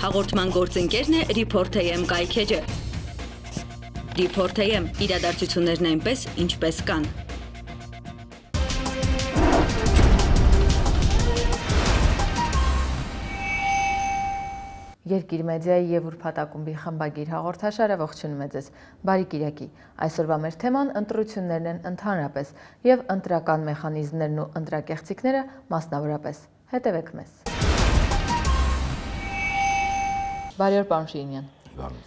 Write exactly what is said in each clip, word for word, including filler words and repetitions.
Հաղորդման գործընկերն է Report A M կայքէջը։ Report A M իրադարձություններն այնպես, ինչպես կան։ Երկիր մեդիայի եւ ուրբաթակումբի խմբագիր հաղորդաշարը ողջունում է ձեզ։ Բարի կիրակի։ Այսօրվա մեր թեման ընտրություններն են ընդհանրապես եւ ընտրական մեխանիզմներն ու ընտրակեղծիքները մասնավորապես։ Հետևեք մեզ։ Բարի օր, պարոն Շիրինյան։ Բարի։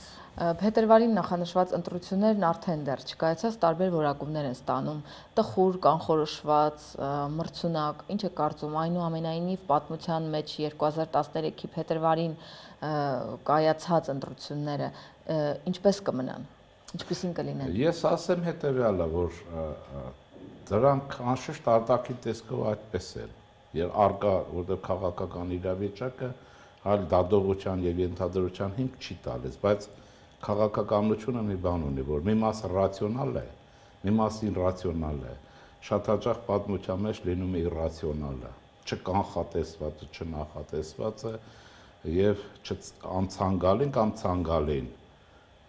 Փետրվարին նախանշված ընտրություններն արդեն դեռ չկայացած տարբեր որակումներ են ստանում՝ տխուր, կանխորոշված, մրցունակ, ինչ է կարծում, այնուամենայնիվ պատմության մեջ երկու հազար տասներեքի փետրվարին կայացած ընտրությունները ինչպես կմնան, ինչպիսին կլինեն։ Ես ասեմ հետևյալը, որ դրանք անշուշտ արտաքին տեսքով այդպես են, եւ արկա, որտեղ քաղաքական իրավիճակը այլ դատողության եւ ենթադրության հիմք չի տալիս, բայց քաղաքականությունը մի բան ունի, որ մի մասը ռացիոնալ է, մի մասը իրացիոնալ է, շատ հաճախ պատմության մեջ լինում է իրացիոնալը, չկանխատեսվածը, չնախատեսվածը եւ անցանկալին կամ ցանկալին։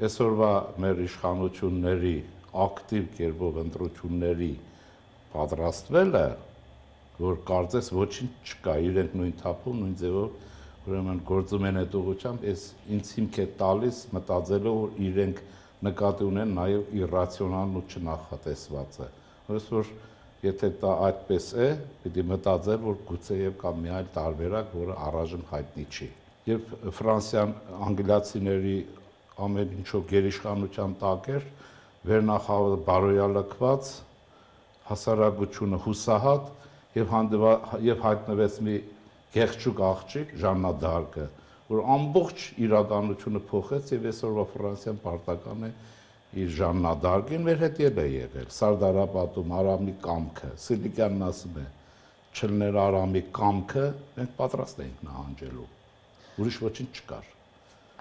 Այսօրվա մեր իշխանությունների ակտիվ կերպով ընտրությունների պատրաստվելը, որ կարծես ոչինչ չկա, իրենք նույն թափում, նույն ձևով ուրեմն գործում են այդ ուղղությամբ, ես ինձ հիմք է տալիս մտածելով, որ իրենք նկատի ունեն նաև իրացիոնալն ու չնախատեսվածը։ Որ եթե դա այդպես է, պիտի մտածել, որ գուցեև կա մի այլ տարբերակ, որը առայժմ հայտնի չի։ Երբ Ֆրանսիան անգլիացիների ամեն ինչով գերիշխանության տակ էր, վերնախավը բարոյալքված, հասարակությունը հուսահատ եւ եւ հայտնվեց մի գեղեցիկ աղջիկ Ժաննա դ'Արկը, որ ամբողջ իրականությունը փոխեց եւ այսօրվա Ֆրանսիան պարտական է իր Ժաննա դ'Արկին մեր հետ է եղել։ Սարդարապատում Արամի կամքը, Սիլիկյանն ասում է, չլներ Արամի կամքը, մենք պատրաստ ենք նահանջելու։ Ուրիշ ոչինչ չկար։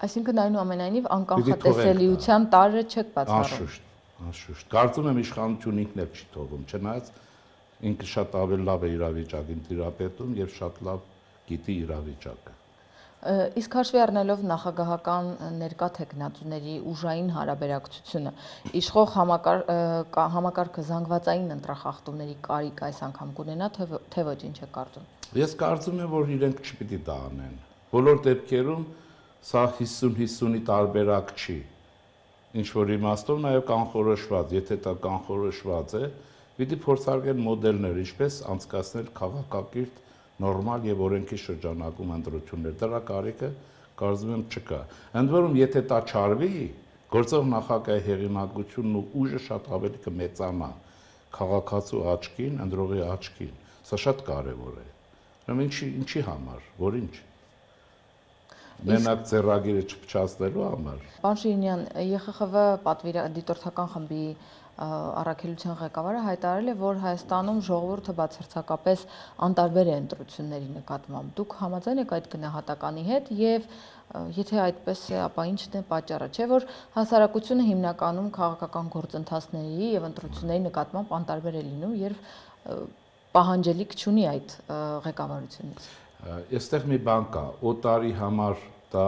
Այսինքն այնուամենայնիվ անկանխատեսելիության տարրը չեք բացառում։ Անշուշտ, անշուշտ։ Կարծում եմ իշխանությունը ինքն էլ չի թողում, չնայած ինքը շատ ավելի լավ է իրավիճակին տիրապետում եւ շատ լավ գիտի իրավիճակը։ Իսկ հաշվի առնելով նախագահական ներկա թեկնածուների ուժային հարաբերակցությունը, իշխող համակարգը զանգվածային ընտրախախտումների կարիք այս անգամ կունենա, թե ոչ, ինչ է կարծում։ Ես կարծում եմ, որ իրենք չպիտի դա անեն։ Բոլոր դեպքերում սա հիսուն հիսունի տարբերակ չի։ Ինչ որ իմաստով նաև կանխորոշված, եթե դա կանխորոշված է, պիտի փորձարկեն մոդելներ, ինչպես անցկացնել քաղաքակիրթ նորմալ եւ օրենքի շրջանակում ընտրություններ։ Դրա կարիքը կարծում եմ չկա։ Ընդ որում, եթե դա չարվի, գործող նախագահի հեղինակությունն ու ուժը շատ ավելի կմեծանա քաղաքացու աչքին, ընտրողի աչքին։ Սա շատ կարեւոր է։ Ուրեմն ինչի ինչի համար, որ ինչ։ Մենակ ծերագիրը չփչացնելու համար։ Պարոն Շիրինյան, Ե Խ Խ V դիտորդական խմբի առաքելության ղեկավարը հայտարարել է, որ Հայաստանում ժողովուրդը բացարձակապես անտարբեր է ընտրությունների նկատմամբ։ Դուք համաձայն եք այդ գնահատականի հետ եւ եթե այդպես է, ապա ի՞նչն է պատճառը, չէ՞ որ հասարակությունը հիմնականում քաղաքական գործընթացների եւ ընտրությունների նկատմամբ անտարբեր է լինում եւ պահանջելիք չունի այդ ղեկավարությունից։ Այստեղ մի բան կա, օտարի համար դա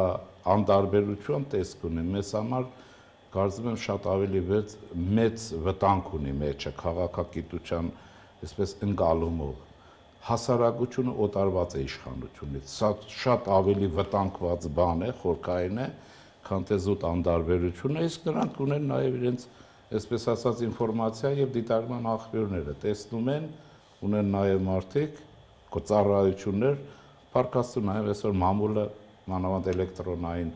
անտարբերություն տեսք ունի, մեզ համար կարծում եմ շատ ավելի մեծ վտանգ ունի մեջը քաղաքագիտության այսպես ընկալումով։ Հասարակությունը օտարված է իշխանությունից, սա շատ ավելի վտանգված բան է, խորքային է, քան թե զուտ անտարբերությունը, իսկ նրանք ունեն նաև իրենց, այսպես ասած, ինֆորմացիա եւ դիտարկման աղբյուրները, տեսնում են, ունեն նաև մարդիկ, ծառայություններ, փառքաստու նաև այսօր մամուլը, մանավանդ էլեկտրոնային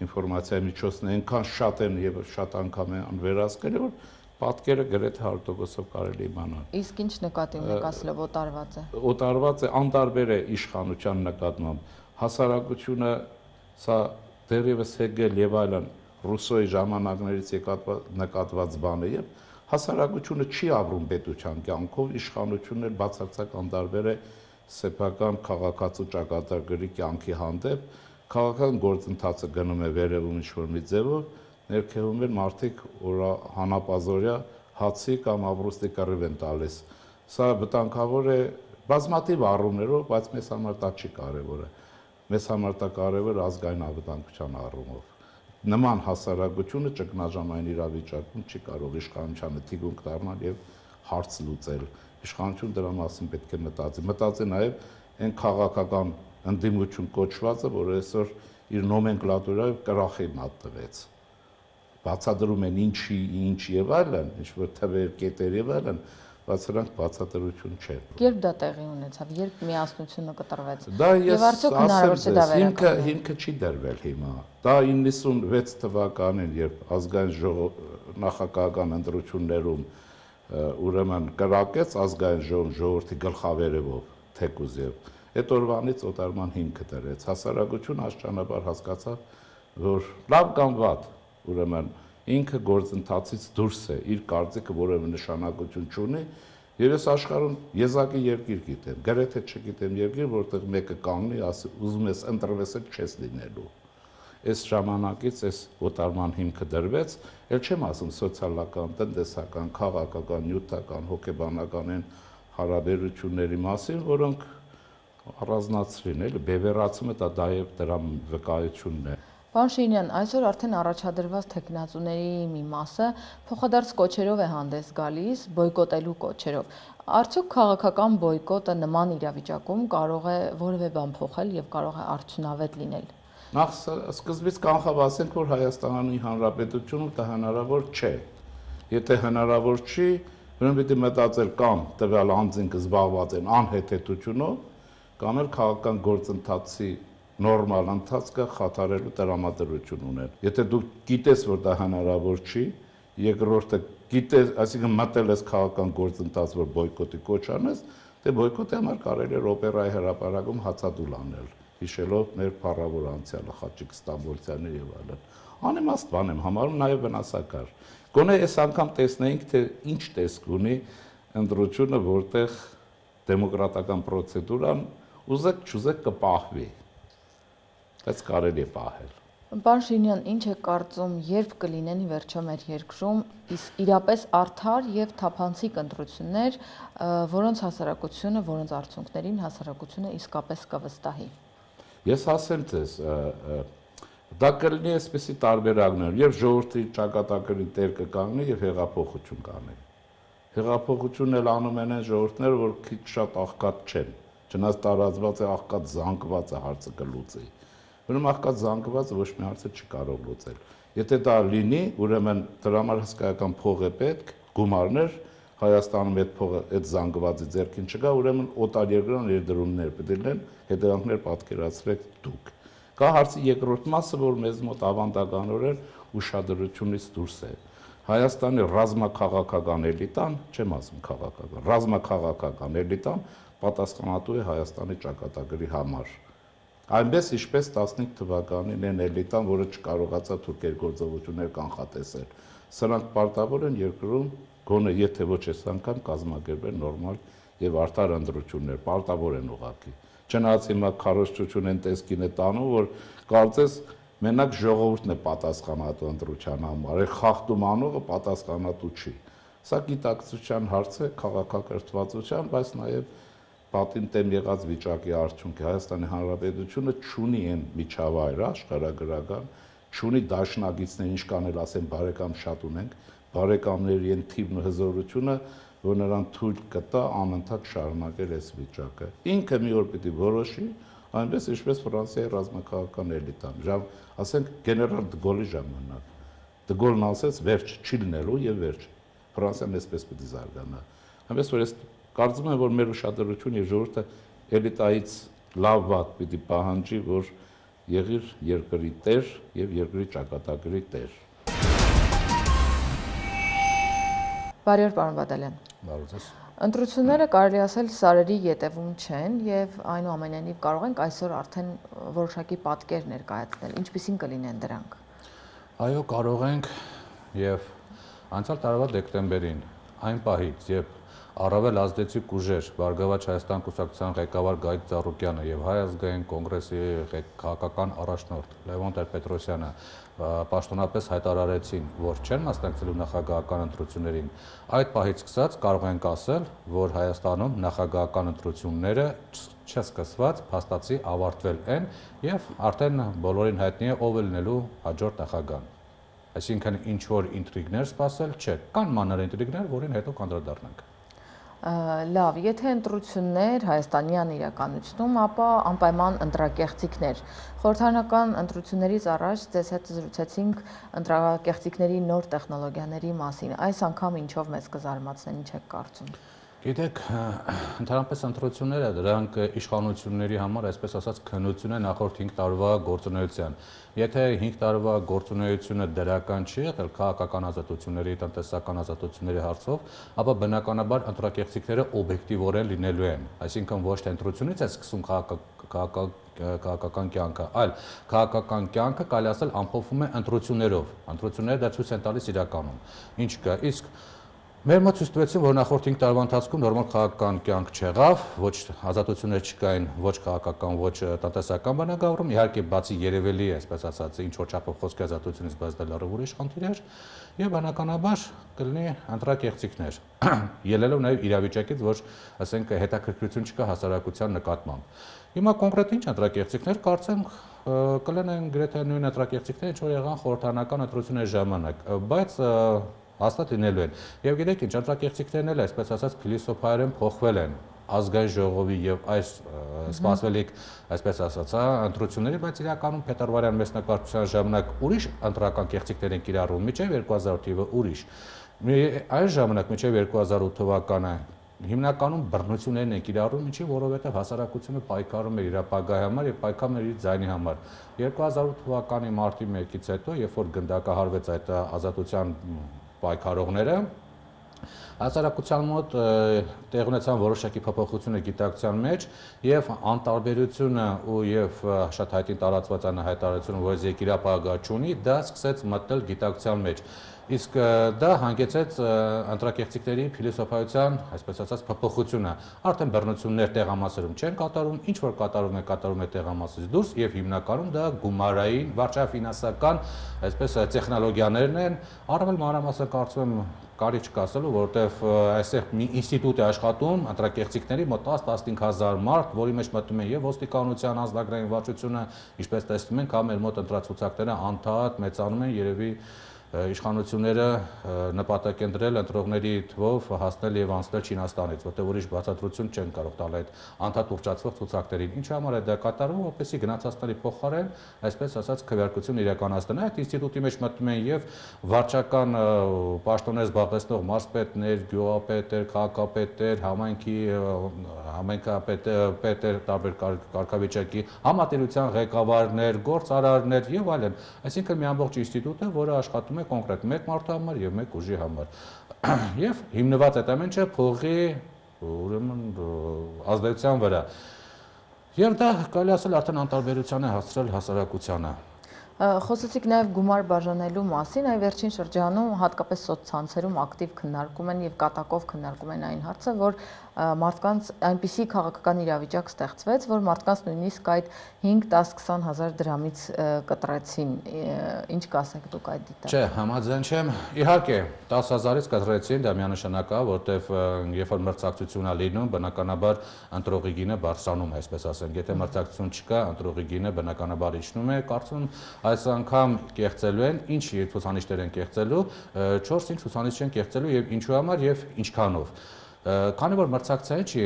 ինֆորմացիայի միջոցն այնքան շատ են եւ շատ անգամ են վերահսկել, որ պատկերը գրեթե հարյուր տոկոսով կարելի իմանալ։ Իսկ ինչ նկատի ունեք ասելով օտարված է։ Օտարված է, անտարբեր է իշխանության նկատմամբ։ Հասարակությունը սա դեռևս Հեգել եւ այլն Ռուսոյի ժամանակներից նկատված բան է եւ հասարակությունը չի ապրում պետության կյանքով, իշխանությունն էլ բացարձակ անտարբեր է սեփական քաղաքացու ճակատագրի կյանքի հանդեպ, քաղաքական գործընթացը գնում է վերևում ինչ-որ մի ձևով, ներքևում են մարդիկ հանապազորյա հացի կամ ապրուստի կռիվ են տալիս։ Սա վտանգավոր է բազմաթիվ առումներով, բայց մեզ համար դա չի կարևորը։ մեզ համար դա կարևոր ազգային անվտանգության առումով։ Նման հասարակությունը ճգնաժամային իրավիճակում չի կարող իշխանությանը թիգունք դառնալ եւ հարց լուծել։ Իշխանություն դրա մասին պետք է մտածի։ Մտածի նաեւ այն քաղաքական ընդդիմություն կոչվածը, որը այսօր իր նոմենկլատուրայով կրախի մատնվեց։ Բացատրում են ինչի, ինչ եւ այլն, ինչ որ թվեր, կետեր եւ այլն, բայց սրանք բացատրություն չէ։ Երբ դա տեղի ունեցավ, երբ միասնությունը կտրվեց։ Դա Եվ արդյոք հնարավոր չէ դա վերականգնել։ Հիմքը չի դրվել հիմա։ Դա իննսունվեց թվականին, երբ ազգային ժողով նախագահական ընտրություններում ուրեմն կրակեց ազգային ժողով ժողովրդի գլխավերևով թեկուզ եւ այդ օրվանից օտարման հիմքը դրեց։ Հասարակությունը աստիճանաբար հասկացավ, որ լավ կամ վատ, ուրեմն ինքը գործընթացից դուրս է, իր կարծիքը որևէ նշանակություն չունի, եւ ես աշխարհում եզակի երկիր գիտեմ, գրեթե չգիտեմ երկիր, որտեղ մեկը կանգնի, ասի, ուզում ես ընտրվես, էլ չես լինելու։ Այս ժամանակից այս օտարման հիմքը դրվեց, ել չեմ ասում սոցիալական, տնտեսական, քաղաքական, նյութական, հոգեբանական են հարաբերությունների մասին, որոնք առանձնացրին, էլի բևեռացումը դա դա եւ դրա վկայությունն է։ Պարոն Շիրինյան, այսօր արդեն առաջադրված թեկնածուների մի մասը փոխադարձ կոչերով է հանդես գալիս, բոյկոտելու կոչերով։ Արդյոք քաղաքական բոյկոտը նման իրավիճակում կարող է որևէ բան փոխել եւ կարող է արդյունավետ լինել։ Նախ սկզբից կանխաբասենք, որ Հայաստանի Հանրապետությունում դա հնարավոր չէ։ Եթե հնարավոր չի, ուրեմն պիտի մտածել կամ տվյալ անձինք զբաղված են անհեթեթությունով, կամ էլ քաղաքական գործընթացի նորմալ ընթացքը խաթարելու տրամադրություն ունեն։ Եթե դու գիտես, որ դա հնարավոր չի, երկրորդը գիտես, այսինքն մտել ես քաղաքական գործընթաց, որ բոյկոտի կոչ անես, դե բոյկոտի համար կարելի է օպերայի հրապարակում հացադուլ անել, հիշելով մեր փառավոր անցյալը, Խաչիկ Ստամբոլցյանը եւ այլն։ Անիմաստ բան եմ համարում, նաեւ վնասակար։ Գոնե այս անգամ տեսնեինք, թե ինչ տեսք ունի ընտրությունը, որտեղ դեմոկրատական պրոցեդուրան ուզեք չուզեք կպահվի։ Բայց կարելի է պահել։ Պարոն Շիրինյան, ինչ է կարծում, երբ կլինեն ի վերջո մեր երկրում իրապես արդար եւ թափանցիկ ընտրություններ, որոնց հասարակությունը, որոնց արդյունքներին հասարակությունը իսկապես կվստահի։ Ես ասեմ ձեզ, դա կլինի այսպեսի տարբերակներ, երբ ժողովրդի ճակատագրի տեր կկանգնի եւ հեղափոխություն կանի։ Հեղափոխությունն էլ անում են այն ժողովուրդները, որ քիչ շատ աղքատ չեն, չնայած տարածված է աղքատ զանգվածը հարցը կլուծի։ Ուրեմն աղքատ զանգվածը ոչ մի հարցը չի կարող լուծել։ Եթե դա լինի, ուրեմն դրա համար հսկայական փող է պետք, գումարներ, Հայաստանում այդ փողը այդ զանգվածի ձեռքին չկա, ուրեմն օտարերկրյա ներդրումներ պետք է լինեն, հետևանքներ պատկերացրեք դուք։ Կա հարցի երկրորդ մասը, որ մեզ մոտ ավանդականորեն ուշադրությունից դուրս է։ Հայաստանի ռազմաքաղաքական էլիտան, չեմ ասում քաղաքական, ռազմաքաղաքական էլիտան պատասխանատու է Հայաստանի ճակատագրի համար։ Այնպես ինչպես տասնհինգ թվականին այն էլիտան, որը չկարողացավ թուրքերի գործողություններ կանխատեսել։ Սրանք պարտավոր են երկրում գոնե եթե ոչ այս անգամ կազմակերպել նորմալ եւ արդար ընտրություններ, պարտավոր են ուղղակի։ Չնայած հիմա քարոզչություն են տեսքին է տանում, որ կարծես մենակ ժողովուրդն է պատասխանատու ընտրության համար, է խախտում անողը պատասխանատու չի։ Սա գիտակցության հարց է, քաղաքակրթվածության, բայց նաեւ պատին տեմ եղած վիճակի արդյունքի Հայաստանի Հանրապետությունը չունի այն միջավայրը աշխարհագրական, չունի դաշնակիցներ, ինչ կանել ասեն բարեկամ շատ ունենք, բարեկամների այն թիվն ու հզորությունը, որ նրան թույլ կտա անընդհատ շարունակել այս վիճակը։ Ինքը մի օր պիտի որոշի, այնպես ինչպես Ֆրանսիայի ռազմաքաղաքական էլիտան, ժամ, ասենք գեներալ Դգոլի ժամանակ։ Դգոլն ասեց վերջ չի լինելու եւ վերջ։ Ֆրանսիան այսպես պիտի զարգանա։ Այնպես որ ես կարծում եմ, որ մեր ուշադրությունը եւ ժողովուրդը էլիտայից լավ վատ պիտի պահանջի, որ եղիր երկրի տեր եւ երկրի ճակատագրի տեր։ Բարի օր, պարոն Բադալյան։ Բարի օր։ Ընտրությունները կարելի ասել սարերի ետևում չեն եւ այնուամենայնիվ կարող ենք այսօր արդեն որոշակի պատկեր ներկայացնել, ինչպիսին կլինեն դրանք։ Այո, կարող ենք եւ անցյալ տարվա դեկտեմբերին այն պահից, երբ առավել ազդեցիկ ուժեր Բարգավաճ Հայաստան կուսակցության ղեկավար Գայթ Ծառուկյանը եւ Հայ ազգային կոնգրեսի քաղաքական առաջնորդ Լևոն Տեր-Պետրոսյանը պաշտոնապես հայտարարեցին, որ չեն մասնակցելու նախագահական ընտրություններին, այդ պահից սկսած կարող ենք ասել, որ Հայաստանում նախագահական ընտրությունները չսկսված փաստացի ավարտվել են եւ արդեն բոլորին հայտնի է ով է լինելու հաջորդ նախագահան։ Այսինքն ինչ որ ինտրիգներ սպասել չէ, կան մանր ինտրիգներ, որին հետո կանդրադառնանք։ Լավ, եթե ընտրություններ հայաստանյան իրականությունում, ապա անպայման ընտրակեղծիքներ։ Խորհրդարանական ընտրություններից առաջ ձեզ հետ զրուցեցինք ընտրակեղծիքների նոր տեխնոլոգիաների մասին։ Այս անգամ ինչով մեզ կզարմացնեն, ինչ եք կարծում։ Գիտեք, ընդհանրապես ընտրությունները դրանք իշխանությունների համար, այսպես ասած, քննություն է նախորդ հինգ տարվա գործունեության։ Եթե հինգ տարվա գործունեությունը դրական չի եղել քաղաքական ազատությունների, տնտեսական ազատությունների հարցով, ապա բնականաբար ընտրակեղծիքները օբյեկտիվորեն լինելու են։ Այսինքն ոչ թե ընտրությունից է սկսում քաղաքական կյանքը, այլ քաղաքական կյանքը կարելի ասել ամփոփվում է ընտրություններով։ Ընտրությունները դա ցույց են տալիս իրականում։ Ինչ կա, իսկ մեր մոտ ցույց տվեցին, որ նախորդ հինգ տարվա ընթացքում նորմալ քաղաքական կյանք չեղավ, ոչ ազատություններ չկային, ոչ քաղաքական, ոչ տնտեսական բնագավառում, իհարկե բացի երևելի է, այսպես ասած, ինչ որ չափով խոսքի ազատությունից, բայց դա լրիվ ուրիշ խնդիր էր, եւ բնականաբար կլինի ընտրակեղծիքներ, ելնելով նաեւ իրավիճակից, որ ասենք հետաքրքրություն չկա հասարակության նկատմամբ։ Հիմա կոնկրետ ինչ ընտրակեղծիքներ, կարծեմ կլինեն գրեթե նույն ընտրակեղծիքները, ինչ որ եղան խորհրդարանական ընտրությունների ժամանակ, բայց հաստատ լինելու են։ Եվ գիտեք ինչ, ընտրակեղծիքներն էլ այսպես ասած փիլիսոփայորեն փոխվել են ազգային ժողովի եւ այս սպասվելիք, այսպես ասած, ընտրությունների, բայց իրականում փետրվարյան մեծ նկարչության ժամանակ ուրիշ ընտրական կեղծիքներ են կիրառվում, մինչեւ երկու հազար ութ թիվը ուրիշ։ Այս ժամանակ մինչեւ երկու հազար ութ թվականը հիմնականում բռնություններն են կիրառում, ինչի որովհետեւ հասարակությունը պայքարում էր իր ապագայի համար եւ պայքարում էր իր ձայնի համար։ երկու հազար ութ թվականի մարտի մեկից հետո, երբ որ գնդակահարվեց այդ ազատության պայքարողները, հասարակության մոտ տեղ ունեցան որոշակի փոփոխությունը գիտակցության մեջ եւ անտարբերությունը ու եւ շատ հայտին տարածված անհայտարարությունը, որ երկիրապահ չունի, դա սկսեց մտնել գիտակցության մեջ։ Իսկ դա հանգեցեց ընտրակեղծիքների փիլիսոփայության, այսպես ասած, փոփոխությունը։ Արդեն բռնություններ տեղամասերում չեն կատարում, ինչ որ կատարում է, կատարում է տեղամասից դուրս եւ հիմնականում դա գումարային, վարչաֆինանսական, այսպես տեխնոլոգիաներն են, առավել մանրամասն կարծում եմ կարիք չկա ասելու, որովհետեւ այստեղ մի ինստիտուտ է աշխատում ընտրակեղծիքների մոտ տաս-տասնհինգ հազար մարդ, որի մեջ մտնում է եւ ոստիկանության անձնագրային վարչությունը, ինչպես տեսնում ենք, հա մեր մոտ ընտրացուցակները անդադ մեծանում են, երևի իշխանությունները նպատակ են դրել ընտրողների թվով հասնել եւ անցնել Չինաստանից, որտեղ ուրիշ բացատրություն չեն կարող տալ այդ անդադ ուռճացվող ցուցակներին։ Ինչի համար է դա կատարվում, որպեսզի գնացածների փոխարեն, այսպես ասած, քվեարկություն իրականացնեն։ Այդ ինստիտուտի մեջ մտնում են եւ վարչական պաշտոններ զբաղեցնող մարզպետներ, գյուղապետեր, քաղաքապետեր, համայնքի համայնքապետեր, տարբեր կարգավիճակի համատերության ղեկավարներ, գործարարներ եւ այլն։ Այսինքն մի ամբողջ ինստիտուտ է, որը աշխատում է կոնկրետ մեկ մարդու համար եւ մեկ ուժի համար։ Եվ հիմնված այդ ամենը փողի ուրեմն ազդեցության վրա։ Եվ դա կարելի ասել արդեն անտարբերության է հասցրել հասարակությանը։ Խոսեցիք նաև գումար բաժանելու մասին, այ վերջին շրջանում հատկապես սոցցանցերում ակտիվ քննարկում են եւ կատակով քննարկում են այն հարցը, որ մարդկանց այնպիսի քաղաքական իրավիճակ ստեղծվեց, որ մարդկանց նույնիսկ այդ հինգ, դաս, քսան հազար դրամից կտրեցին։ Ինչ կասեք դուք այդ դիտարկմանը։ Չէ, համաձայն չեմ։ Իհարկե, դաս հազարից կտրեցին, դա միանշանակ է, որտեվ երբ որ մրցակցություն է լինում, բնականաբար ընտրողի գինը բարձրանում է, այսպես ասենք։ Եթե մրցակցություն չկա, ընտրողի գինը բնականաբար իջնում է, կարծում այս անգամ կեղծելու են, ինչ ցուցանիշներ են կեղծելու, չորս-հինգ ցուցանիշ են կեղծելու եւ ինչու համար եւ ինչքանով։ Քանի որ մրցակցային չի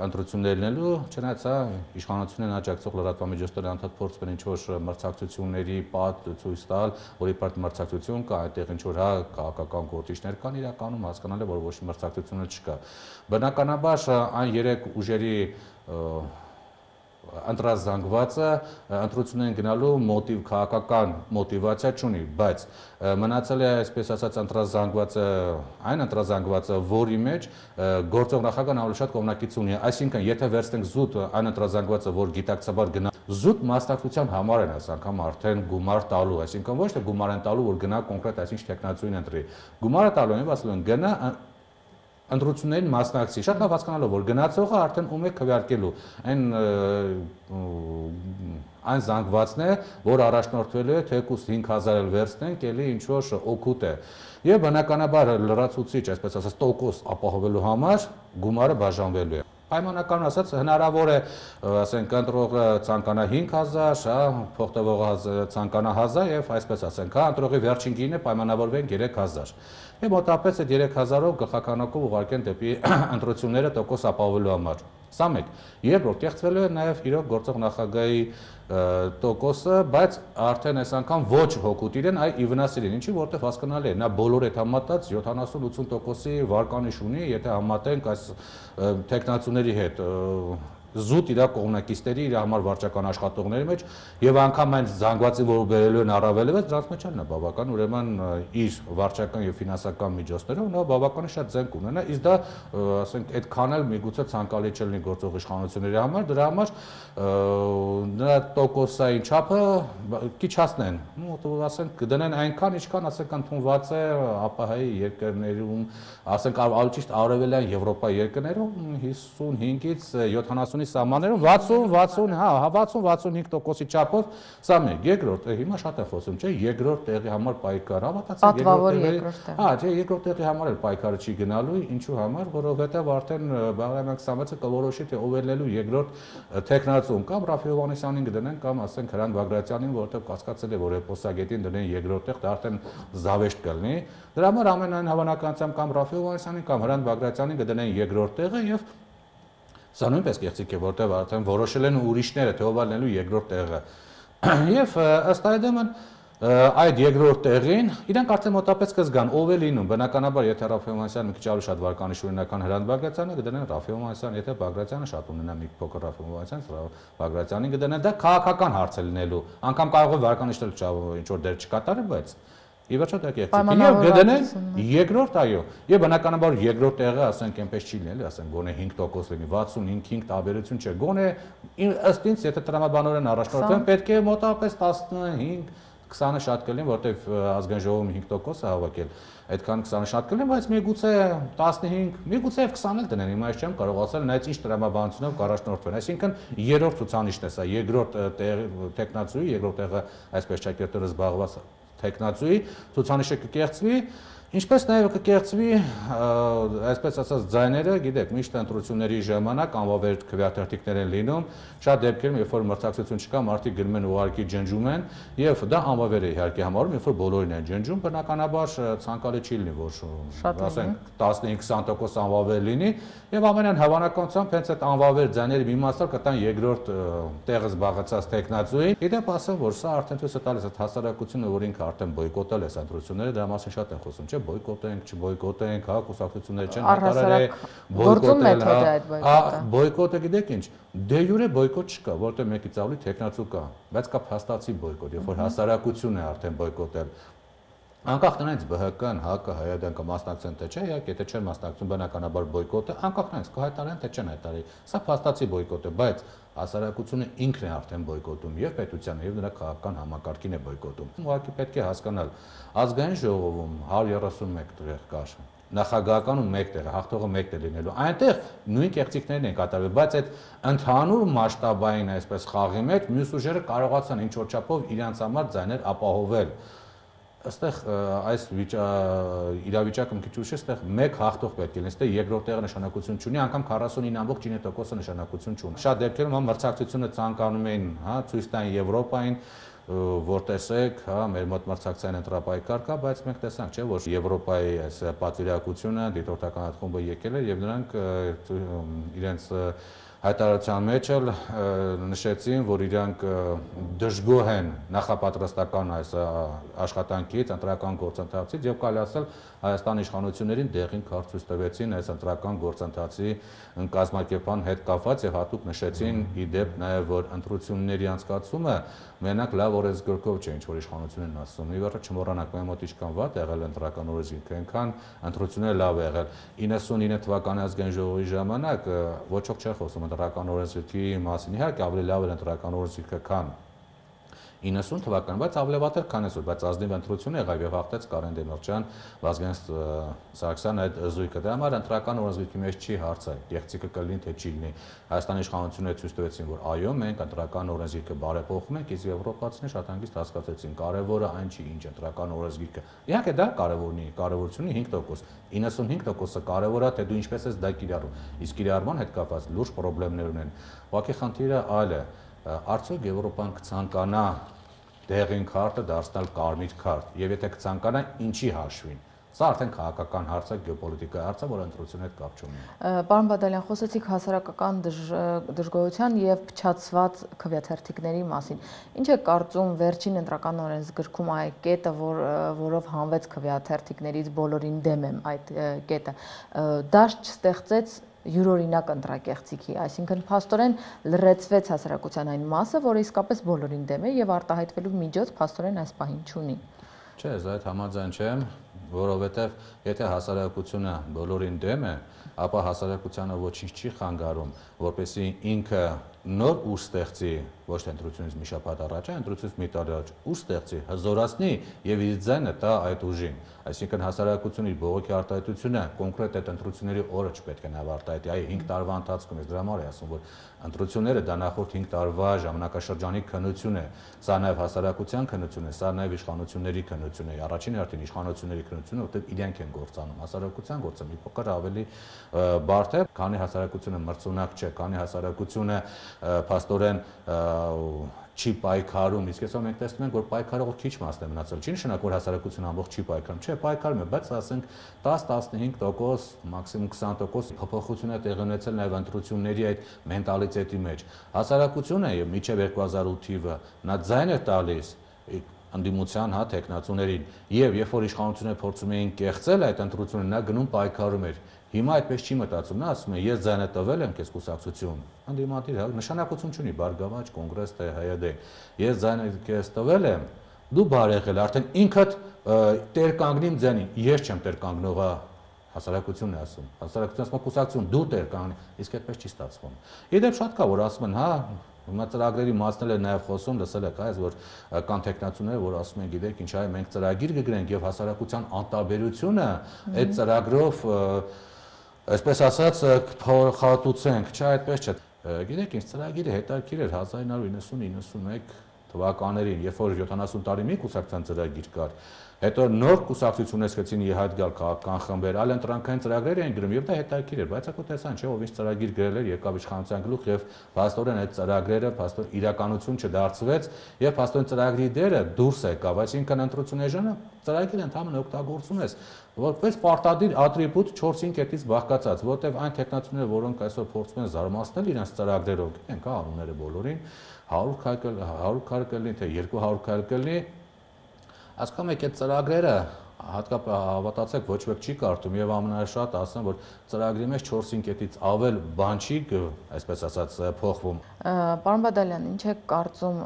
ընտրություններ լինելու, չնայած հա իշխանությունն աջակցող լրատվամիջոցները անդադ փորձում են ինչ-որ մրցակցությունների պատ ցույց տալ, որի պատ մրցակցություն կա, այդտեղ ինչ-որ հա քաղաքական գործիչներ կան, իրականում հասկանալ է, որ ոչ մրցակցությունը չկա։ Բնականաբար այն երեք ուժերի ընտրազանգվածը ընտրությունն են գնալու մոտիվ քաղաքական մոտիվացիա չունի, բայց մնացել է այսպես ասած ընտրազանգվածը, այն ընտրազանգվածը, որի մեջ գործող նախագահն ավելի շատ կողմնակից ունի, այսինքն եթե վերցնենք զուտ այն ընտրազանգվածը, որ գիտակցաբար գնա զուտ մասնակցության համար են այս անգամ արդեն գումար տալու, այսինքն ոչ թե գումար են տալու, որ գնա կոնկրետ այսինչ տեխնացուին ընտրի, գումարը տալու են, ասում են գնա ընտրություններին մասնակցի, շատ լավ հասկանալով, որ գնացողը արդեն ում է քվեարկելու, այն այն զանգվածն է, որ առաջնորդվելու է թեկուզ հինգ հազար էլ վերցնենք, էլի ինչ որ օգուտ է։ Եվ բնականաբար լրացուցիչ, այսպես ասած, տոկոս ապահովելու համար գումարը բաժանվելու է։ Պայմանական ասած հնարավոր է, ասենք, ընտրողը ցանկանա հինգ հազար, հա, փոխտվողը ցանկանա հազար եւ այսպես ասենք, հա, ընտրողի վերջին գինը պայմանավորվեն երեք հազար։ Եվ մոտավորապես այդ երեք հազարով գլխականակով ուղարկեն դեպի ընտրությունները տոկոս ապահովելու համար։ Սա մեկ։ Երկրորդ, կեղծվելու է նաև իրոք գործող նախագահի տոկոսը, բայց արդեն այս անգամ ոչ հոգուտ իրեն, այ ի վնաս իրեն, ինչի որտեղ հասկանալի է, նա բոլոր այդ համատած յոթանասուն ութսուն տոկոսի վարկանիշ ունի, եթե համատենք այս տեխնացուների հետ զուտ իր կողմնակիցների իր համար վարչական աշխատողների մեջ եւ անգամ այն զանգվածի, որ բերելու են առավելևս, դրանց մեջ էլ նա բավական ուրեմն իր վարչական եւ ֆինանսական միջոցներով նա բավական շատ զենք ունենա, իսկ դա ասենք այդքան էլ միգուցե ցանկալի չլինի գործող իշխանությունների համար, դրա համար նրա տոկոսային չափը քիչ հասնեն, ու ասենք կդնեն այնքան, ինչքան ասենք ընդունված է ԱՊՀ-ի երկրներում, ասենք ավելի ճիշտ արևելյան Եվրոպայի երկրներում հիսունհինգից յոթանասունի սահմաններում վաթսուն վաթսուն, հա, վաթսուն վաթսունհինգ տոկոսի չափով սա մեկ, երկրորդ, հիմա շատ է խոսում, չէ, երկրորդ տեղի համար պայքար, հավատացեք, երկրորդ տեղի, հա, չէ, երկրորդ տեղի համար էլ պայքարը չի գնալու, ինչու համար, որովհետև արդեն Բաղրամ Սամվելը կորոշի, թե ով է լինելու երկրորդ տեխնացուն, կամ Ռաֆի Հովհաննիսյանին կդնեն, կամ ասենք Հրանտ Բագրատյանին, որովհետև կասկածել է, որ էպոսագետին դնեն երկրորդ տեղ, դա արդեն զավեշտ կլինի։ Դրա համար ամենայն հավանականությամբ կամ Ռաֆի Հովհաննիսյանին կամ Հրանտ Բագրատյանին կդնեն երկրորդ տեղը եւ սա նույնպես կեղծիք է, որտեղ արդեն որոշել են ուրիշները, թե ով է լինելու երկրորդ տեղը։ Եվ ըստ այդմ այդ երկրորդ տեղին իրանք արդեն մոտապես կզգան ով է լինում, բնականաբար եթե Ռաֆի Հովհաննիսյանը մի քիչ ավելի շատ վարկանիշ ունենական Հրանտ Բագրատյանը կդնեն Ռաֆի Հովհաննիսյան, եթե Բագրատյանը շատ ունենա մի փոքր Ռաֆի Հովհաննիսյան, Բագրատյանին կդնեն, դա քաղաքական հարց է լինելու, անգամ կարող է վարկանիշը ինչ որ դեր չկատարի, բայց ի վերջո դա կեղծիք է, եւ կդնեն երկրորդ, այո, եւ բնականաբար երկրորդ տեղը, ասենք, այնպես չի լինի, ասենք, գոնե հինգ տոկոս լինի, վաթսունհինգ հինգ տարբերություն չէ, գոնե ըստ ինձ, եթե տրամաբանորեն առաջնորդվեն, պետք է մոտավորապես տասնհինգ քսանը շատ կլինի, որտեվ ազգային ժողովում հինգ տոկոս է հավաքել, այդքան քսանը շատ կլինի, բայց միգուցե տասնհինգ, միգուցե քսան էլ դնեն, հիմա ես չեմ կարող ասել, նայած ինչ տրամաբանությունով կառաջնորդվեն, այսինքն երրորդ ցուցանիշն է սա, երկրորդ տեխնացուի, երկրորդ տեղը այսպես ճակերտորը զբաղված տեխնացուի ցուցանիշը կկեղծվի, ինչպես նաև կկեղծվի, այսպես ասած, ձայները, գիտեք, միշտ ընտրությունների ժամանակ անվավեր քվեաթերթիկներ են լինում, շատ դեպքերում, երբ որ մրցակցություն չկա, մարդիկ գնում են ուղղակի ջնջում են, եւ դա անվավեր է իհարկե համարում, երբ որ բոլորին են ջնջում, բնականաբար ցանկալի չի լինի, որ ասենք տասնհինգ քսան տոկոս անվավեր լինի, եւ ամենայն հավանականությամբ հենց այդ անվավեր ձայների մի մասը կտան երկրորդ տեղը զբաղեցած տեխնացուին։ Իդեպ ասեմ, որ սա արդեն ցույց է տալիս այդ հասարակությունը, որ ինքը արդեն բոյկոտել է ընտրությունները, դրա մասին շատ են խոսում, չէ՞, բոյկոտենք, չբոյկոտենք, հա, կուսակցությունները չեն հայտարարել բոյկոտել, հա, բոյկոտը գիտեք ինչ, դե յուրե բոյկոտ չկա, որտեղ մեկից ավելի տեխնացու կա, բայց կա փաստացի բոյկոտ, երբ որ հասարակությունն է արդեն բոյկոտել։ Անկախ նրանից ԲՀԿ-ն, ՀԱԿ-ը, Հայ-Ադեն կմասնակցեն թե չէ, իհարկե, եթե չեն մասնակցում, բնականաբար բոյկոտը, անկախ նրանից կհայտարարեն թե չեն հայտարարի, սա փաստացի բոյկոտ է, բայց հասարակությունը ինքն է արդեն բոյկոտում, եւ պետությանը, եւ նրա քաղաքական համակարգին է բոյկոտում։ Ուղղակի պետք է հասկանալ, ազգային ժողովում հարյուր երեսունմեկ տեղ կար, նախագահականում մեկ տեղ, հաղթողը մեկ տեղ լինելու, այնտեղ նույն կեղծիքներն են կատարվել, բայց այդ ընդհանուր մասշտաբային այսպես խաղի մեջ մյուս ուժերը կարողացան ինչ որ չափով իրենց համար ձայներ ապահովել։ Այստեղ այս իրավիճակը մի քիչ ուրիշ է, այստեղ մեկ հաղթող պետք է լինի, այստեղ երկրորդ տեղը նշանակություն չունի, անգամ քառասունինը ամբողջ ինը տոկոսը նշանակություն չունի։ Շատ դեպքերում հա մրցակցությունը ցանկանում էին, հա, ցույց տան Եվրոպային, որ տեսեք, հա, մեր մոտ մրցակցային ընտրապայքար կա, բայց մենք տեսանք, չէ, որ Եվրոպայի այս պատվիրակությունը, դիտորդական խումբը եկել էր եւ նրանք իրենց հայտարարության մեջ էլ նշեցին, որ իրանք դժգոհ են նախապատրաստական այս աշխատանքից, ընտրական գործընթացից եւ կարելի ասել Հայաստանի իշխանություններին դեղին քարտ ցույց տվեցին այս ընտրական գործընթացի կազմակերպման հետ կապված եւ հատուկ նշեցին ի դեպ նաեւ, որ ընտրությունների անցկացումը մենակ լավ օրենսգրքով չէ, ինչ որ իշխանություններն ասում։ Ի վերջո չմոռանանք, մեր մոտ ինչքան վատ եղել ընտրական օրենսգիրքը, այնքան ընտրությունները լավ եղել։ իննսունինը թվականի ազգային ժողովի ժամանակ ոչ ոք չէ խոսում ընտրական օրենսգիրքի մասին, իհարկե ավելի լավ էր ընտրական օրենսգիրքը, քան իննսուն թվականին, բայց ավելի վատ էր, քան այսօր, բայց ազնիվ ընտրություն եղավ եւ հաղթեց Կարեն Դեմիրճյան, Վազգեն Սարգսյան այդ զույգը։ Դրա համար ընտրական օրենսգրքի մեջ չի հարցը, գեղեցիկը կլինի թե չի լինի։ Հայաստանի իշխանությունները ցույց տվեցին, որ այո, մենք ընտրական օրենսգիրքը բարեփոխում ենք, իսկ եվրոպացիները շատ հանգիստ հասկացեցին, կարևորը այն չի, ինչ ընտրական օրենսգիրքը։ Իհարկե դա կարևորն է, կարևորությունը հինգ տոկոս, իննսունհինգ տոկոսը կարևոր է, թե դու ինչպես ես դա կիրառում։ Իսկ կիրառման հետ կապված լուրջ խնդիրներ ունեն։ Ուղղակի խնդիրը այլ է։ Արդյոք Եվրոպան կցանկանա դեղին քարտը դարձնել կարմիր քարտ, եւ եթե կցանկանա, ինչի հաշվին։ Սա արդեն քաղաքական հարց է, գեոպոլիտիկայի հարց է, որը ընտրության հետ կապ չունի։ Պարոն Բադալյան, խոսեցիք հասարակական դժգոհության եւ փչացված քվեաթերթիկների մասին։ Ինչ է կարծում վերջին ընտրական օրենսգրքում այդ կետը, որ որով հանվեց քվեաթերթիկներից բոլորին դեմ եմ այդ կետը, դաշտ չստեղծեց յուրօրինակ ընտրակեղծիքի, այսինքն փաստորեն լրացվեց հասարակության այն մասը, որը իսկապես բոլորին դեմ է եւ արտահայտվելու միջոց փաստորեն այս պահին չունի։ Չէ, ես այդ համաձայն չեմ, որովհետև եթե հասարակությունը բոլորին դեմ է, ապա հասարակությանը ոչինչ չի խանգարում, որպեսզի ինքը նոր ուժ ստեղծի, ոչ թե ընտրությունից մի շաբաթ առաջ, այլ ընտրությունից մի տարի առաջ, ուժ ստեղծի, հզորացնի եւ իր ձայնը տա այդ ուժին։ Այսինքն հասարակությունը իր բողոքի արտահայտությունը կոնկրետ այդ ընտրությունների օրը չպետք է նավարտահայտի, այ հինգ տարվա ընթացքում, ես դրա համար եմ ասում, որ ընտրությունները դա նախորդ հինգ տարվա ժամանակաշրջանի քննություն է, սա նաեւ հասարակության քննություն է, սա նաեւ իշխանությունների քննություն է, առաջին հերթին իշխանությունների քննությունը, որտեղ իրենք են գործանում, հասարակության գործը մի փոքր ավելի բարդ է, քանի հասարակությունը մրցունակ չէ, քանի հասարակությունը փաստորեն չի պայքարում, իսկ այսօր մենք տեսնում ենք, որ պայքարողը քիչ մասն է մնացել։ Չի նշանակում, որ հասարակությունը ամբողջ չի պայքարում, չէ, պայքարում է, բայց ասենք դես տասնհինգ տոկոս, մաքսիմում քսան տոկոս փոփոխություն է տեղի ունեցել նաև ընտրությունների այդ մենտալիտետի մեջ։ Հասարակությունը եւ մինչեւ երկու հազար ութ թիվը նա ձայն է տալիս անդիմության հա տեխնացուներին եւ երբ որ իշխանությունները փորձում էին կեղծել այդ ընտրությունը, նա գնում պայքարում էր։ Հիմա այդպես չի մտածում, նա ասում է ես ձայնը տվել եմ քեզ կուսակցություն, անդիմադիր հա նշանակություն չունի Բարգավաճ, Կոնգրես թե Հայ Դե։ Ես ձայնը քեզ տվել եմ, դու բար եղել, արդեն ինքդ տեր կանգնիմ ձայնին, ես չեմ տեր կանգնողը, հասարակությունն է ասում, հասարակությունն ասում կուսակցություն, դու տեր կանգնի, իսկ այդպես չի ստացվում։ Իդեպ շատ կա որ ասում են, հա Հիմա ծրագրերի մասն էլ նաև խոսում, լսել եք, այս որ կան տեխնացուներ, որ ասում են, գիտեք, ինչ այ մենք ծրագիր կգրենք եւ հասարակության անտարբերությունը այդ ծրագրով, այսպես ասած, փոխհատուցենք, չէ, այդպես չէ։ Գիտեք, ինչ ծրագիրը հետաքրքիր էր հազար իննսուն իննսուն իննսունմեկ թվականներին, երբ որ յոթանասուն տարի մի կուսակցության ծրագիր կար, հետո նոր կուսակցություններ սկսեցին իհայտ գալ քաղաքական խմբեր, այլ ընտրանքային ծրագրեր էին գրում եւ դա հետաքրքիր էր, բայց ակո տեսան, չէ, ով ինչ ծրագիր գրել էր, եկավ իշխանության գլուխ եւ փաստորեն այդ ծրագրերը փաստոր իրականություն չդարձվեց եւ փաստորեն ծրագրի դերը դուրս եկավ, այսինքն ընտրությունների ժամանակ ծրագիրը ընդհանրապես օգտագործում ես որպես պարտադիր ատրիբուտ չորս-հինգ կետից բաղկացած, որտեղ այն տեխնացուները, որոնք այսօր փորձում են զարմացնել իրենց ծրագրերով, գիտենք, հա, անունները բոլորին հարյուր քայլ կլինի, թե երկու հարյուր քայլ կլինի, ասում եք այդ ծրագրերը հատկապես հավատացեք ոչ ոք չի կարդում եւ ամենաշատ ասեմ որ ծրագրի մեջ չորս-հինգ կետից ավել բան չի այսպես ասած փոխվում։ Պարոն Բադալյան, ինչ է կարծում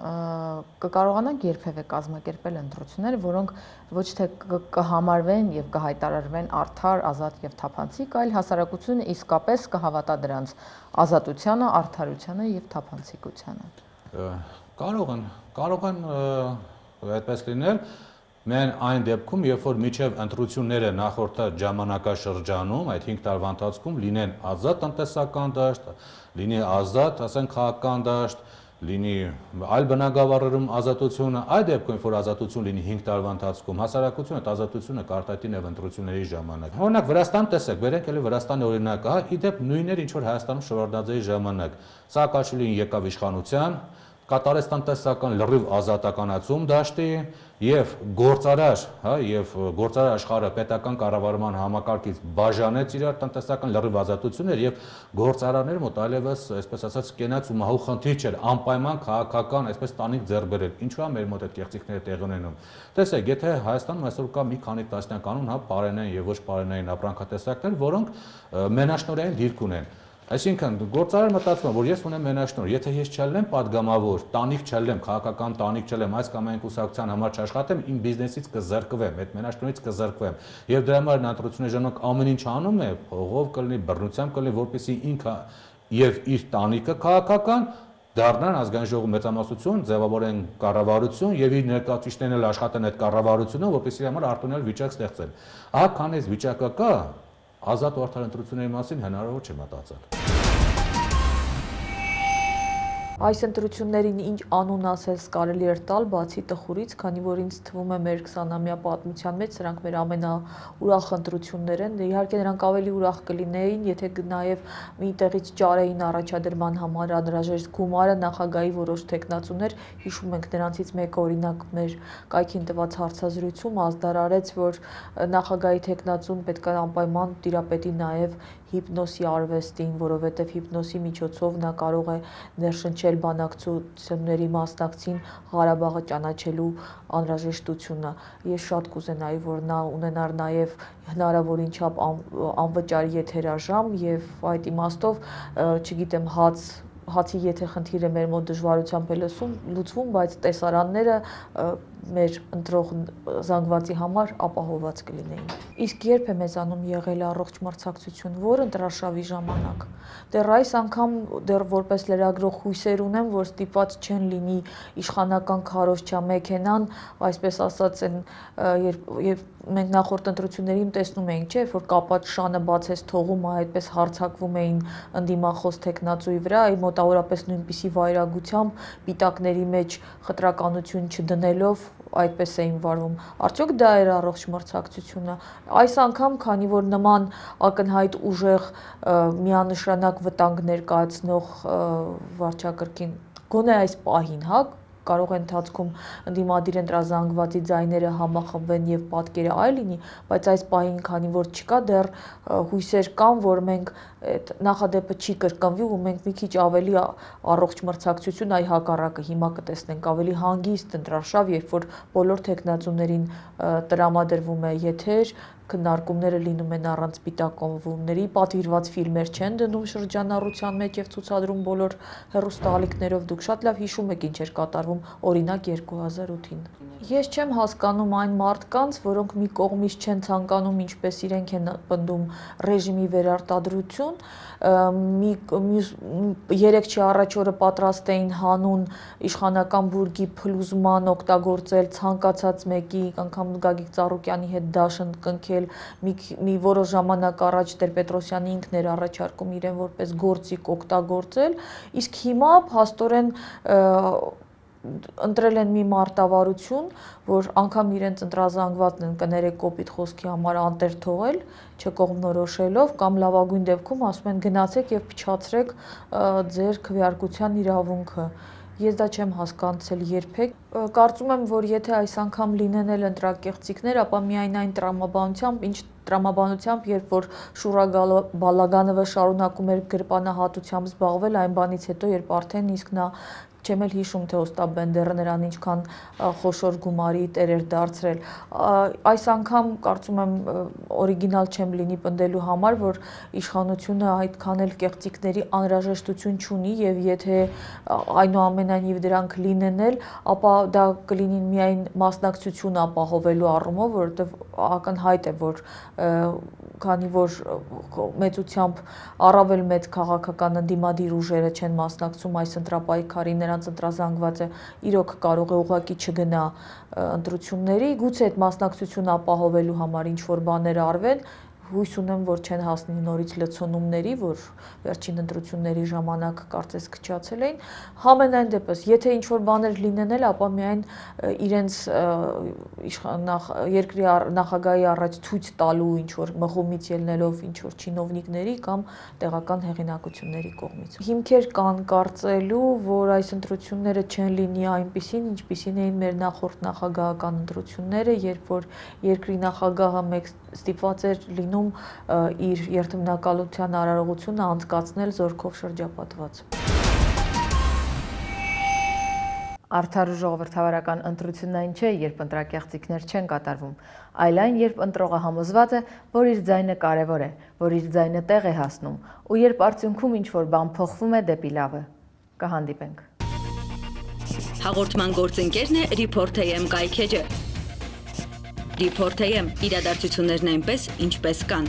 կկարողանանք երբևէ կազմակերպել ընտրություններ, որոնք ոչ թե կհամարվեն եւ կհայտարարվեն արդար, ազատ եւ թափանցիկ, այլ հասարակությունը իսկապես կհավատա դրանց ազատությանը, արդարությանը եւ թափանցիկությանը։ Կարող են, կարող են այդպես լինել։ Մեն այն դեպքում, երբ որ միջև ընտրությունները նախորդ ժամանակաշրջանում, այդ հինգ տարվա ընթացքում լինեն ազատ տնտեսական դաշտ, լինի ազատ, ասենք քաղաքական դաշտ, լինի այլ բնակավարերում ազատությունը, այդ դեպքում, որ ազատություն լինի հինգ տարվա ընթացքում, հասարակությունը այդ ազատությունը կարտահայտի նաև ընտրությունների ժամանակ։ Օրինակ Վրաստան տեսեք, բերենք էլի Վրաստանի օրինակը, հա, իդեպ նույններ ինչ որ Հայաստանում Շևարդնաձեի ժամանակ։ Սաակաշվիլին եկավ իշխանության, կատարեց տնտեսական լրիվ ազատականացում դաշտի եւ գործարար, հա, եւ գործարար աշխարհը պետական կառավարման համակարգից բաժանեց իրար տնտեսական լրիվ ազատություններ եւ գործարարները մոտ այլևս, այսպես ասած, կենաց ու մահու խնդիր չէր, անպայման քաղաքական, այսպես տանիք ձեռք բերել։ Ինչու՞ է մեր մոտ այդ կեղծիքները տեղի ունենում։ Տեսեք, եթե Հայաստանում այսօր կա մի քանի տասնյակ անուն, հա, բարենային եւ ոչ բարենային ապրանքատեսակներ, որոնք մենաշնորհային դիրք ունեն։ Այսինքն գործարարը մտածում է, որ ես ունեմ մենաշնորհ, եթե ես չելնեմ падգամավոր, տանիք չելնեմ, քաղաքական տանիք չելեմ, այս կամ այն կուսակցության համար չաշխատեմ, իմ բիզնեսից կզրկվեմ, այդ մենաշնորհից կզրկվեմ։ Եվ դրա համար ընտրությունների ժամանակ ամեն ինչ անում է, փողով կլինի, բռնությամբ կլինի, որպեսզի ինքը եւ իր տանիքը քաղաքական դառնան ազգային ժողովի մեծամասնություն, ձևավորեն կառավարություն եւ իր ներկայացուցիչներն էլ աշխատեն այդ կառավարությունը, որպեսզի համար արտոնել վիճակ ստեղծել։ Ահա քան այս վիճակը կա, ազատ ու արդար ընտրությունների մասին հնարավոր չէ մտածել։ Այս ընտրություններին ինչ անուն ասես կարելի էր տալ բացի տխուրից, քանի որ ինձ թվում է մեր քսանամյա պատմության մեջ սրանք մեր ամենաուրախ ընտրություններ են։ Իհարկե նրանք ավելի ուրախ կլինեին, եթե նաև մի տեղից ճարեին առաջադրման համար անհրաժեշտ գումարը նախագահի որոշ տեխնացուներ, հիշում ենք նրանցից մեկը օրինակ մեր կայքին տված հարցազրույցում ազդարարեց, որ նախագահի տեխնացուն պետք է անպայման տիրապետի նաև հիպնոսի արվեստին, որովհետև հիպնոսի միջոցով նա կարող է ներշնչել բանակցությունների մասնակցին Ղարաբաղը ճանաչելու անհրաժեշտությունը։ Ես շատ կուզենայի, որ նա ունենար նաև հնարավորին չափ անվճար եթերաժամ եւ այդ իմաստով, չգիտեմ, հաց հացի եթե խնդիրը մեր մոտ դժվարությամբ է լուծվում, բայց տեսարանները մեր ընտրող զանգվածի համար ապահովված կլինեին։ Իսկ երբ է մեզանում եղել առողջ մրցակցություն, որ ընտրարշավի ժամանակ։ Դեռ այս անգամ դեռ որպես լրագրող հույսեր ունեմ, որ ստիպված չեն լինի իշխանական քարոզչա մեքենան, այսպես ասած, են երբ մենք նախորդ ընտրություններին տեսնում էինք, չէ՞, որ կապած շանը բացես թողում, այդպես հարցակվում էին ընդդիմախոս տեխնացուի վրա, մոտավորապես նույնպիսի վայրագությամբ պիտակների մեջ խտրականություն չդնելով այդպես էին վարվում։ Արդյոք դա էր առողջ մրցակցությունը։ Այս անգամ, քանի որ նման ակնհայտ ուժեղ միանշանակ վտանգ ներկայացնող վարչակարգին գոնե այս պահին, հա, կարող է ընթացքում ընդդիմադիր ընտրազանգվածի ձայները համախմբվեն եւ պատկերը այլ լինի, բայց այս պահին, քանի որ չկա դեռ հույսեր կան, որ մենք այդ նախադեպը չի կրկնվի ու մենք մի քիչ ավելի առողջ մրցակցություն, այ հակառակը հիմա կտեսնենք ավելի հանգիստ ընտրարշավ, երբ որ բոլոր տեխնացուներին տրամադրվում է եթեր, քննարկումները լինում են առանց սպիտակ կոմվումների, պատվիրված ֆիլմեր չեն դնում շրջանառության մեջ եւ ցուցադրում բոլոր հեռուստաալիքներով, դուք շատ լավ հիշում եք ինչ էր կատարվում օրինակ երկու հազար ութին։ Ես չեմ հասկանում այն մարդկանց, որոնք մի կողմից չեն ցանկանում, ինչպես իրենք են պնդում, ռեժիմի վերարտադրություն, մի երեք չի առաջ օրը պատրաստ էին հանուն իշխանական բուրգի փլուզման օգտագործել ցանկացած մեկի, անգամ Գագիկ Ծառուկյանի հետ դաշն կնքել, մի, մի որոշ ժամանակ առաջ Տեր-Պետրոսյանը ինքն էր առաջարկում իրեն որպես գործիք օգտագործել, իսկ հիմա փաստորեն ընտրել են մի մարտավարություն, որ անգամ իրենց ընտրազանգվածն են կներեք կոպիտ խոսքի համար անտեր թողել, չկողմնորոշելով կամ լավագույն դեպքում ասում են գնացեք եւ փչացրեք ձեր քվեարկության իրավունքը։ Ես դա չեմ հասկացել երբեք։ Կարծում եմ, որ եթե այս անգամ լինեն էլ ընտրակեղծիքներ, ապա միայն այն տրամաբանությամբ, ինչ տրամաբանությամբ, երբ որ Շուրա Բալագանովը շարունակում էր գրպանահատությամբ զբաղվել, այն բանից հետո, երբ արդեն իսկ նա չեմ էլ հիշում, թե Օստապ Բենդերը նրան ինչքան խոշոր գումարի տեր էր դարձրել։ Այս անգամ կարծում եմ օրիգինալ չեմ լինի պնդելու համար, որ իշխանությունը այդքան էլ կեղծիքների անհրաժեշտություն չունի եւ եթե այնուամենայնիվ դրանք լինեն էլ, ապա դա կլինի միայն մասնակցություն ապահովելու առումով, որովհետեւ ակնհայտ է, որ քանի որ մեծությամբ առավել մեծ քաղաքական ընդդիմադիր ուժերը չեն մասնակցում այս ընտրապայքարի, նրանց ընտրազանգվածը իրոք կարող է ուղղակի չգնա ընտրությունների, գուցե այդ մասնակցությունը ապահովելու համար ինչ որ բաներ արվեն, հույս ունեմ, որ չեն հասնի նորից լցոնումների, որ վերջին ընտրությունների ժամանակ կարծես քչացել էին։ Համենայն դեպս, եթե ինչ որ բաներ լինեն էլ, ապա միայն իրենց երկրի նախագահի առաջ ցույց տալու ինչ որ մղումից ելնելով ինչ որ չինովնիկների կամ տեղական հեղինակությունների կողմից։ Հիմքեր կան կարծելու, որ այս ընտրությունները չեն լինի այնպիսին, ինչպիսին էին մեր նախորդ նախագահական ընտրությունները, երբ որ երկրի նախագահը մեկ ստիպված էր լինում իր երթմնակալության արարողությունը անցկացնել զորքով շրջապատված։ Արդար ու ժողովրդավարական ընտրությունն այն չէ, երբ ընտրակեղծիքներ չեն կատարվում, այլ այն, երբ ընտրողը համոզված է, որ իր ձայնը կարևոր է, որ իր ձայնը տեղ է հասնում, ու երբ արդյունքում ինչ-որ բան փոխվում է դեպի լավը։ Կհանդիպենք։ Հաղորդման գործընկերն է Report.am կայքէջը։ Report.am իրադարձություններն այնպես, ինչպես կան։